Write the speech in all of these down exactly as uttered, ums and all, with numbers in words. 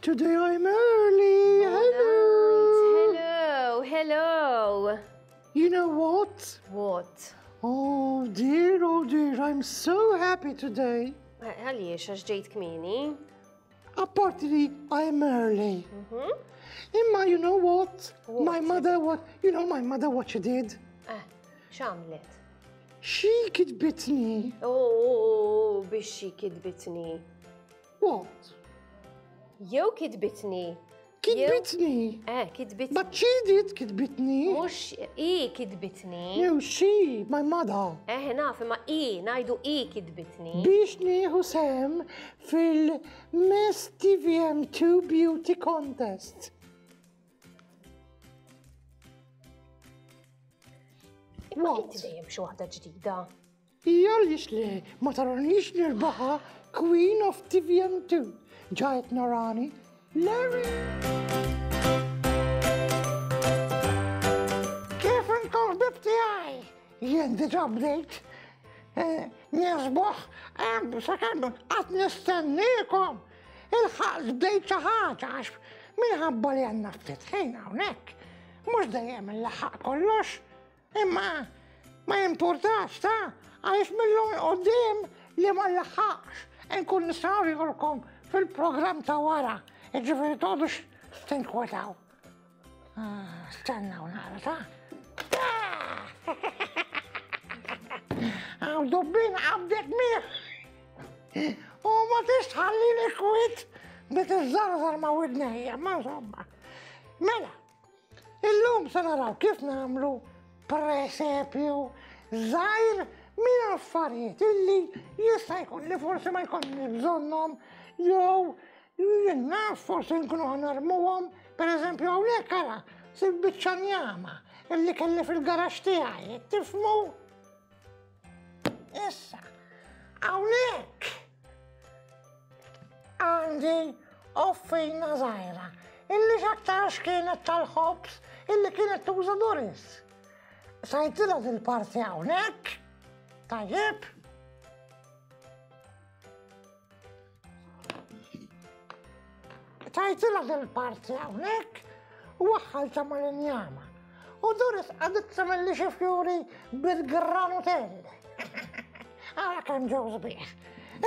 Today I'm early. Hello. Hello, hello. You know what? What? Oh dear, oh dear, I'm so happy today. Għaliex, għax ġejt kmieni? Apparti li I'm early. Imma you know what? What? My mother what? You know my mother what she did? Eh, x'għamlet? She kitbitni. Oh, biex xi kitbitni. What? Jew kitbitni. Kitbitni. Eh, kitbitni. But she did kitbitni. Mux i kitbitni. No, she, my mother. Eh, naf, imma i, ngħidu i kitbitni. Biex nieħu sehem fil-Miss T V M two Beauty Contest. Imma What? inti dejjem xi waħda ġdida. Hija għaliex le, ma taranix nirbaħa Queen of T V M two. Ġajt narani. Larry! Kif intom ħbib tiegħi? Jien diġà bdejt. Eh, nisbuħ, eh, sakemm qatt nistenniekom. Il-ħaqt bdejt xi ħaġa għax minħabba li għandna ftit ħin hawnhekk. Mhux dejjem il-laħaq kollox, imma ma jimpurtax ta' għaliex mill-lum quddiem li ma nlaħħaqx nkun nistgħu nurihulkom fil-programm ta' wara. Jiġifieri toqgħodux tinkwetaw. Ah, stennaw nara ta'. Għaw dubbin qabdet miegħek. U ma tistħallini kwiet bit iżżarżar ma' widnejja, ma insomma. Mela, illum se naraw kif nagħmlu presepju żgħir minn affarijiet illi jista' jkun li forsi ma jkollniex bżonnhom jew jien naf forsi nkunu ħanarmuhom. Per eżempju hawnhekk ara sib biċċa njama illi kelli fil-garaxx tiegħi, tifhmu? Issa, hawnhekk għandi offina żgħira illi x'aktarx kienet tal-ħobż illi kienet tuża Doris. Sajtilha dil-parti hawnhekk, tajjeb. Tajtilha dil-parti hawnhekk u waħħalta mal-injama. U Doris qagħdet tagħmel xi fjuri bil-granutell. Ara kemm ġew sbieħ.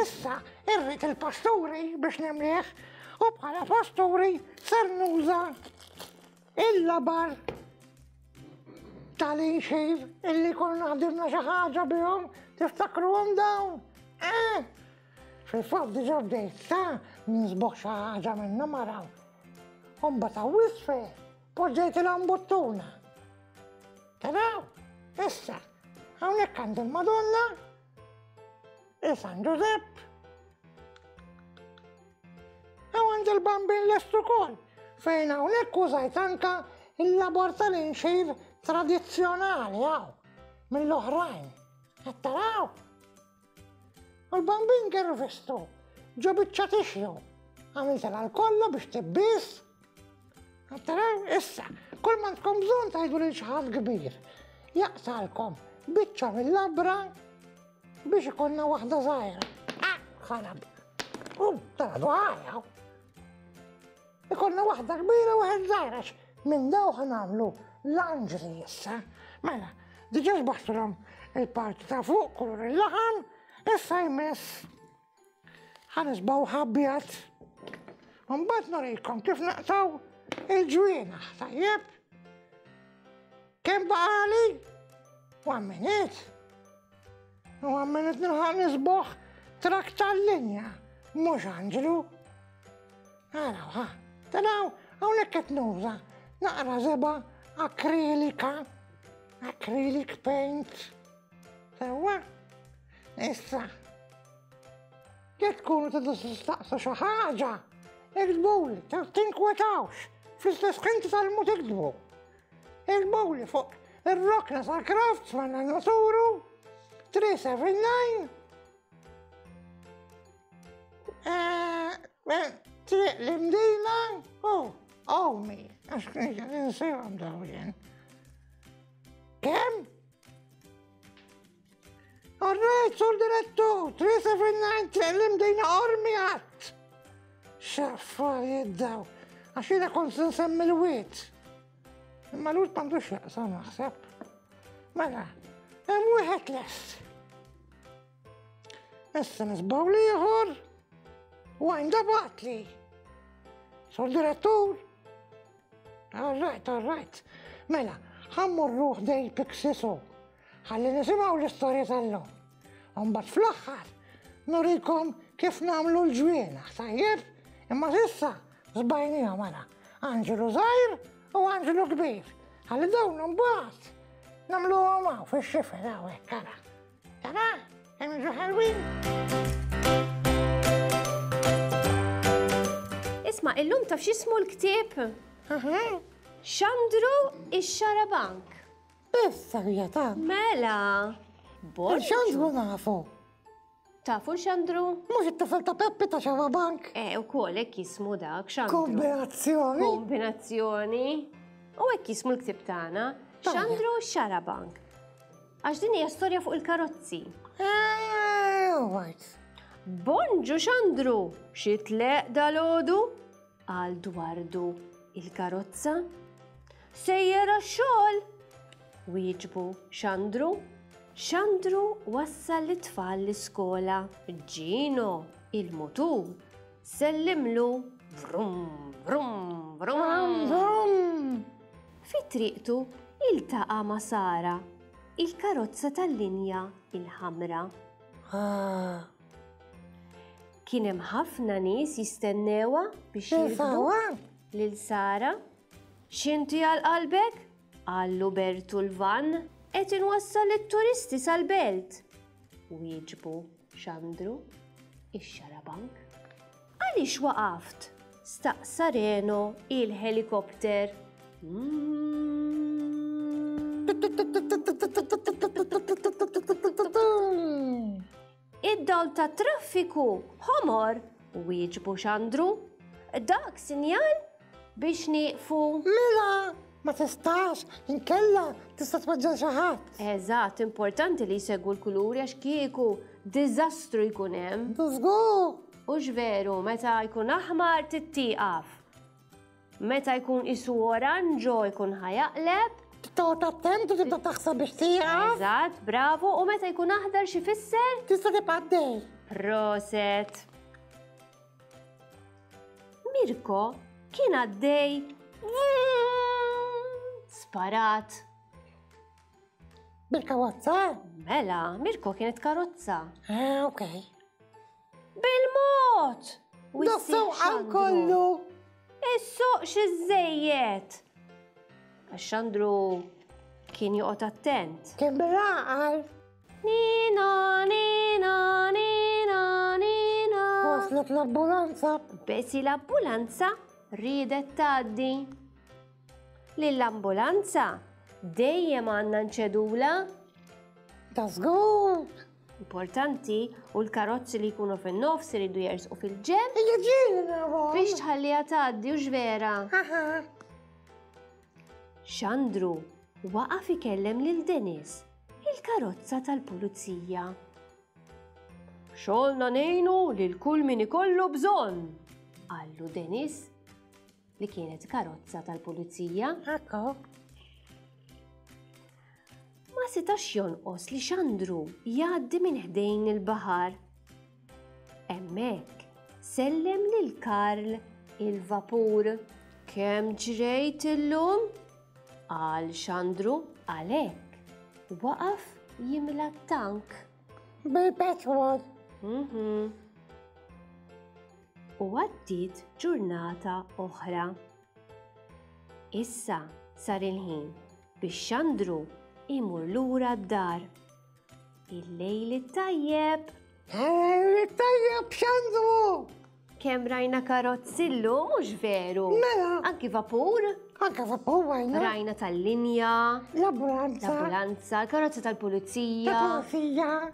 Issa irrid il-pasturi biex nimlieh u bħala pasturi ser nuża il-labar tal-inxir illi konna ħdimna xi ħaġa bihom, tiftakruhom dawn? Eh? Fil-fatt diġà bdejt ta' nisboħ xi ħaġa minnhom araw. U mbagħad hawn isfel poġġejt il-ambuttuna. Taraw? Issa, hawnhekk għandi l-Madonna, il-San Ġużepp, hawn għandi l-Bambin lest ukoll, fejn hawnhekk użajt anka il-labor tal-inxir tradizzjonali hawn mill-oħrajn. Qed taraw? U l-Bambin gervistu ġo biċċa tixju. Għamiltilha l-kollha biex tibbis. Qed taraw? Issa, kull ma għandkom bżonn tgħidu lil xi ħadd kbir. Jaqsalkom biċċa mill-labra biex ikollna waħda żgħira. Ah, ħarab. U tara ħajja. Ikollna waħda kbira u waħda żgħira għax minn daw ħanamlu l-anġli issa. Mela, diġà sbaħtulhom il-parti ta' fuq kulur il-laħam, issa jmiss ħanisbaw ħabjat. Mbagħad nurikom kif naqtaw il-ġwienaħ, tajjeb? Kemm baqali? One minute. One minute nilħaq nisboħ trak tal-linja, mhux anġlu. Araw, ha, taraw, hawnhekk qed nuża naqra żebgħa akrilika, acrylic paint. Sewwa? Issa, jekk tkunu tridu tistaqsu xi ħaġa, iktbuli, tinkwetawx, fl-istess ħin titgħallmu tiktbu. Iktbuli fuq ir-rokna tal-crafts ma' Naturu three seven nine. Eh, eh, Triq l-Imdina u Omi, għax ninsihom dawn jien. Kemm? All right, sur direttur, three seven nine, triq l-Imdina Qormi għadd. X'affarijiet daw. Għax jiena kont se nsemmi l-wied. Imma l-wied m'għandux x'jaqsam naħseb. Mela, hemm wieħed lest. Issa nisbaw l-ieħor u għajn batli. Sur direttur. All right, all right. Mela, ħa mmorru ħdejn Pixisu. Ħalli nisimgħu l-istorja tal-lum. Mbagħad fl-aħħar nurikom kif nagħmlu l-ġwienaħ, tajjeb? Imma s'issa żbajnihom mela. Anġelu żgħir u anġelu kbir. Ħalli dawn imbagħad nagħmluhom hawn fix-xifer hawnhekk ara. Tara, hemm jiġu ħelwin. Isma', illum taf x'ismu l-ktieb? Xandru ix-Xarabank. Issa hija ta'. Mela. Xandru nafu. Tafu Xandru? Mhux it-tifel ta' Peppi ta' Xarabank. Eh, ukoll hekk jismu dak Xandru. Kombinazzjoni. Kombinazzjoni. U hekk jismu l-ktieb tagħna. Xandru Xarabank. Għax din hija storja fuq il-karozzi. Eh, right. Bonġu Xandru, xi tleq dalgħodu? Għal dwardu il-karozza. Sejjer għax-xogħol. Wieġbu Xandru. Xandru wassal l-tfal l-iskola. Ġino, il-mutur, sellimlu. Vrum, vrum, vrum. Vrum. Fi triqtu iltaqa' ma' Sara, il-karozza tal-linja il-ħamra. Kien hemm ħafna nies jistennewha biex jirkbu lil Sara. X'inti għal qalbek? Qallu Bertu l-van. Qed inwassal it-turisti sal-belt. Wieġbu Xandru ix-Xarabank. Għaliex waqaft? Staqsa Reno il-helikopter. Id-dawl ta' traffiku ħomor, wieġbu Xandru. Dak sinjal biex nieqfu. Mela! Ma tistax, inkella tista' tweġġa' xi ħadd. Eżatt, importanti li jsegwu l-kuluri għax kieku diżastru jkun hemm. Żgur. Hux veru, meta jkun aħmar tittieqaf. Meta jkun isu oranġo jkun ħajaqleb. Toqgħod attent u tibda taħseb biex tieqaf. Eżatt, bravo, u meta jkun aħdar xi fisser? Tista' tibqa' għaddej. Proset. Mirko kien għaddej sparat. Bil-karozza? Mela, Mirko kienet karozza. Ah, ok. Bil-mod! Da-sewqan kollu! Is-suq xi żejjed! Għax Xandru kien joqgħod attent. Kien bil-għaqal. Nina, nina, nina, nina. Waslet l-ambulanza. Besi l-ambulanza riedet tgħaddi. Lill-ambulanza dejjem għandna nċedula. Ta' żgur. Importanti u l-karozzi li jkunu fin-nofs iridu jersqu fil-ġenb. Hija ġieli nagħmlu. Biex tħalliha tgħaddi u vera. Xandru waqaf ikellem lil Dennis, il-karozza tal-pulizija. Xogħolna ngħinu lil kull min ikollu bżonn, qallu Dennis, li kienet karozza tal-pulizija. Ekku. Ma setax jonqos li Xandru jgħaddi minn ħdejn il-baħar. Hemmhekk sellem lil Karl il-vapur. Kemm ġrejt illum? Qal Xandru. Għalhekk waqaf jimla t-tank. Bil-petrol. Mhm. U għaddiet ġurnata oħra. Issa sar il-ħin biex Xandru imur lura d-dar. Il-lejl it-tajjeb. Il-lejl it-tajjeb, Xandru! Kemm rajna karozzi llum, mhux veru? Mela. Anki vapur. Anke vapur rajna. Rajna tal-linja. L-ambulanza. L-ambulanza, l-karozza tal-pulizija. Tal-pulizija.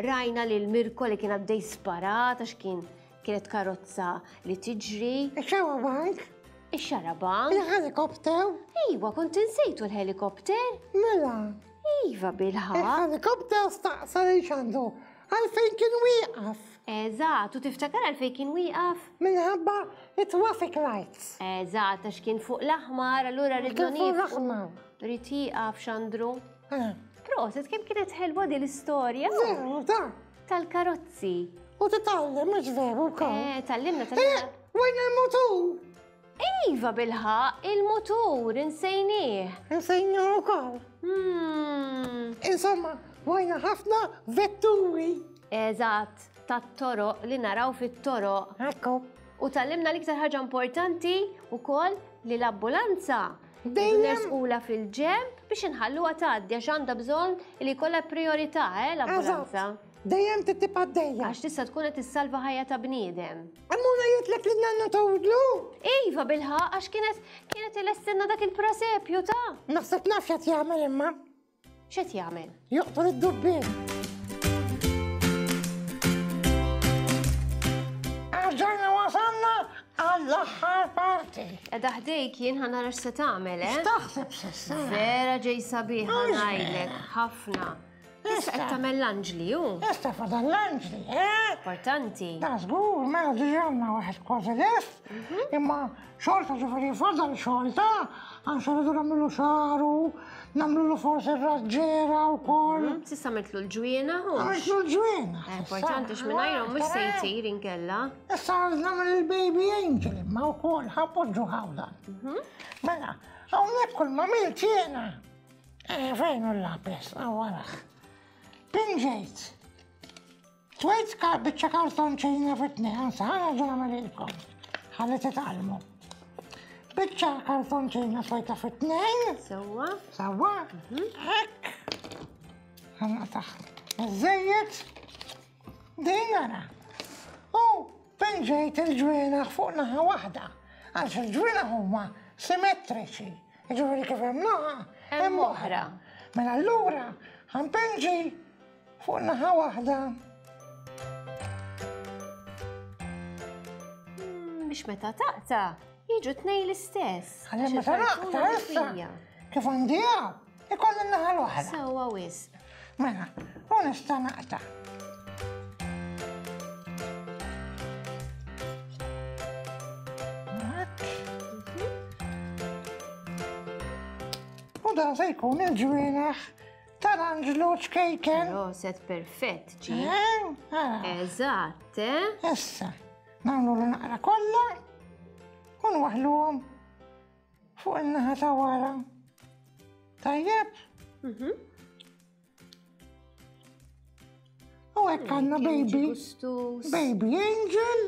Rajna lil Mirko li kien għaddej sparat għax kien kienet karozza li tiġri. Ix-xarabank. Ix-xarabank. Il-helikopter. Iva, kont insejtu l-helikopter. Mela. Iva, bilħaqq. Il-helikopter staqsa lil Xandru għalfejn kien wieqaf. Eżatt, u tiftakar għalfejn kien wieqaf? Minħabba it-traffic lights. Eżatt, għax kien fuq l-aħmar, allura rridu Kien fuq nieqfu. l-aħmar. Rrid jieqaf Xandru. Eh. Proset, kemm kienet ħelwa din l-istorja Veru, ta' tal-karozzi. U titgħallem mhux veru wkoll. Eh, tallimna, Eh, tallimna. wejn il-mutur? Iva bilħaq, il-mutur, insejnieh. Insejnieh ukoll. Hmm. Insomma, wajna ħafna vetturi. Eżatt, tat-toroq li naraw fit-toroq. Ekku. U tallimna l-iktar ħaġa importanti wkoll li l-ambulanza Dejjem. nersqula fil-ġemb biex inħalluha tgħaddi għax għandha bżonn li jkollha priorità eh, l-ambulanza. Eżatt. Dejjem titib għaddejja. Għax tista' tkun qed tissalva ħajja ta' bniedem. Ammuna jitlek li nannu tawdlu. Iva bilħaq għax kienet kienet ilestinna dak il-prasepju ta' Naħseb naf x'qed jagħmel imma. X'qed jagħmel? Joqtol id-dubbien. Erġajna wasalna għall-aħħar parti. Edha ħdejk jien ħa nara x'se tagħmel, eh? X'taħseb s'issa? Vera ġej sabiħa Mhux ngħidlek, vera. ħafna. Issa qed Issa. tagħmel l-anġli hu. Issa fadal l-anġli, eh? Importanti. Da żgur, mela diġà għandna waħed kważi lest, imma xorta ġifieri fadal xorta, għax irridu nagħmlu xagħru, nagħmlu forsi r-raġġiera wkoll. S'issa għamiltlu l-ġwiena hu. Għamiltlu l-ġwiena. Importanti x'mingħajrhom mhux se jtir inkella. Issa nagħmel il-baby angel imma wkoll ħapoġġu ħawdan. Mela, hawnhekk kull ma għamilt jiena. Eh, fejn hu l-lapis? Hawn waraħ. Pinġejt. Twejt biċċa kartonċina fit-tnejn, ansa, ħa nerġa' nagħmel Ħalli titgħallmu. Biċċa kartonċina twejta fit-tnejn. Sewwa. Sewwa. Hekk. Ħa naqtaħ. Iżejjed. Din ara. U pinġejt il-ġwienaħ fuq naħa waħda. Għax il-ġwienaħ huma simmetriċi. Jiġifieri kif hemm naħa, Hemm oħra. Mela allura ħanpinġi fuq naħa waħda. Biex meta taqta, jiġu tnej l-istess. Għalli meta naqta issa, kif għandi hawn, ikolli n-naħa l-oħra. Sewwa wisq. Mela, u nista' naqta. U dan se jkun il-ġwienaħ tal-anġlu ċkejken. Proset perfett, ġi. Eh, ara. Eżatt, eh? Issa, nagħmlu l-naqra kollha u nwaħħluhom fuq in-naħa ta' wara. Tajjeb? Mhm. U hekk għandna baby. Gustus. Baby angel.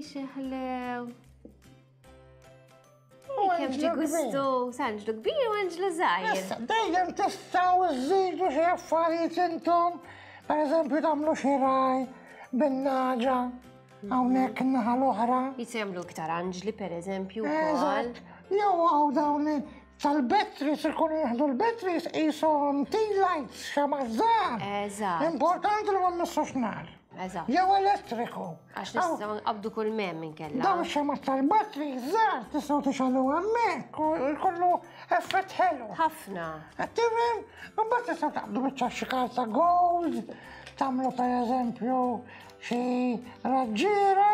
Xeħlew. U Kemm ġi anġlu kbir. gustus, anġlu kbir u anġlu żgħir. Issa, dejjem tistgħu żżidu xi affarijiet intom, per eżempju tagħmlu xi raj bin-naġa hawnhekk in-naħa l-oħra. Jistgħu jagħmlu iktar anġli per eżempju wkoll. Eżatt. Jew hawn dawn tal-batteries ikunu jieħdu l-batteries qishom tea lights xama' żgħar. Eżatt. Importanti li ma mmissux nar. Eżatt. Jew elettriku. Għax nistgħu nqabdu kull mem inkella. Dawn xama tal-batteries żgħar tistgħu tixgħalu hemmhekk u jkollu effett ħelu. Ħafna. Qed tifhem? Imbagħad tistgħu taqbdu biċċa xi karta gold, tagħmlu pereżempju xi raġġiera.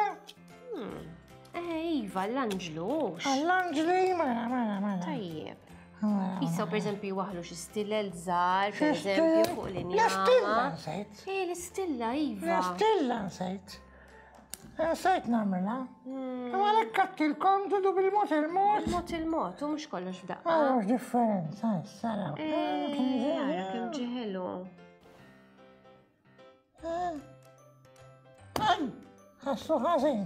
Eh, iva, l-anġlu. Għall-anġli, mela, mela, mela. Tajjeb. Mela. Jistgħu pereżempju jwaħħlu xi stillel żgħar, Xi pereżempju stillel? fuq l-injama. L-istilla nsejt. Eh, l-istilla, iva. L-istilla nsejt. Nsejt nagħmilha. Imma għalhekk għedtilkom tridu bil-mod il-mod. Mod il-mod, u mhux kollox f'daqqa. Ara x'differenza, issa araw. Eh, ara kemm ġeħelu. Aj, ħassu ħażin.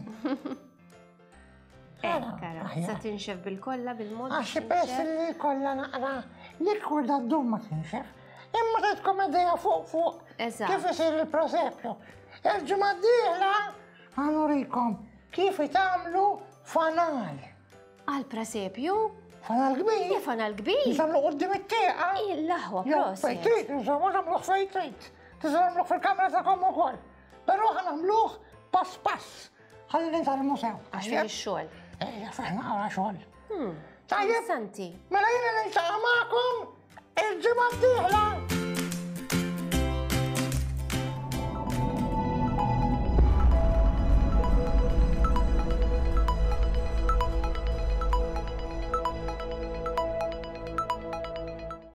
Ekk, ara, sa tinxef bil-kolla, bil-mod. Għax pess li kolla naqra likwida ddum ma tinxef. Imma tgħidkom idea fuq fuq Eżatt. kif isir il-presepju. Il-ġimgħa d-dieħla ħa nurikom kif tagħmlu fanal. Għal presepju? Fanal kbir. Le fanal kbir? Nagħmlu quddiem it-tieqa. L-aħwa, Jew proset. fejn trid, insomma, nagħmluh fejn trid. Tista' nagħmluh fil-kamra tagħkom ukoll. Però ħa nagħmluh pass pass. Ħalli nitgħallmu sew. Għax fih ix-xogħol. Ejja, fih naqra xogħol. Tajjeb. Interessanti. Mela jiena niltaqa' magħkom il-ġimgħa d-dieħla.